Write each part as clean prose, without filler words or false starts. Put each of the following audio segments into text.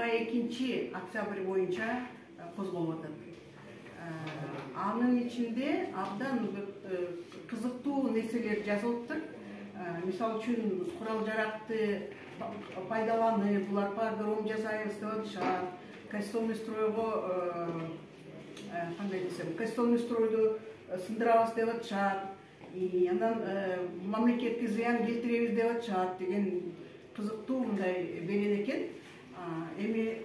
22 октябрь боюнча козголуп атат. Анын ичинде абдан кызыктуу нерселер жазылыптыр. Мисалы үчүн курал жаракты пайдаланып, булар погром жасайбыз деп атышат. Кастомный стройго кандай десем, кастомный стройду сындырабыз деп атышат. Анан мамлекетке зыян келтиребиз деп атышат деген кызыктуу мындай берен экен. Эми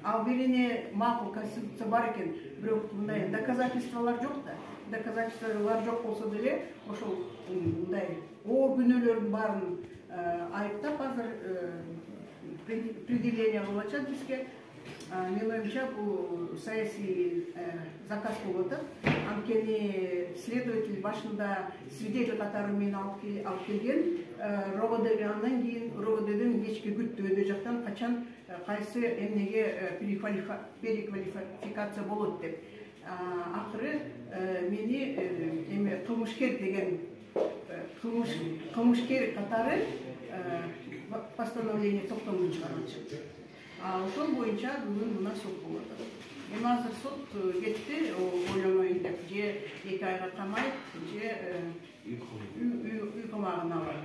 ал берене макул, конституция бар экен, бирок мындай доказательстволор жок да. Доказательстволор жок болсо деле ошол мындай оор күнөөлөрдүн баарын айыптап азыр предъявление кылып атышат бизге. Менин оюмча бул саясий заказ болуп атат. Анткени следователь башында свидетель катары мени алып келген, РОВД андан кийин РОВДден кечке күттү өйдө жактан качан кайсы эмнеге переквалификация болот деп. Акыры мени эми кылмышкер деген кылмышкер катары постановление токтомдон чыгарылчу. Ошол боюнча бүгүн мына сот болуп атат. Эми азыр сот кетти, ойлоноюн деп, же 2 айга камайт, же үй камагына алат.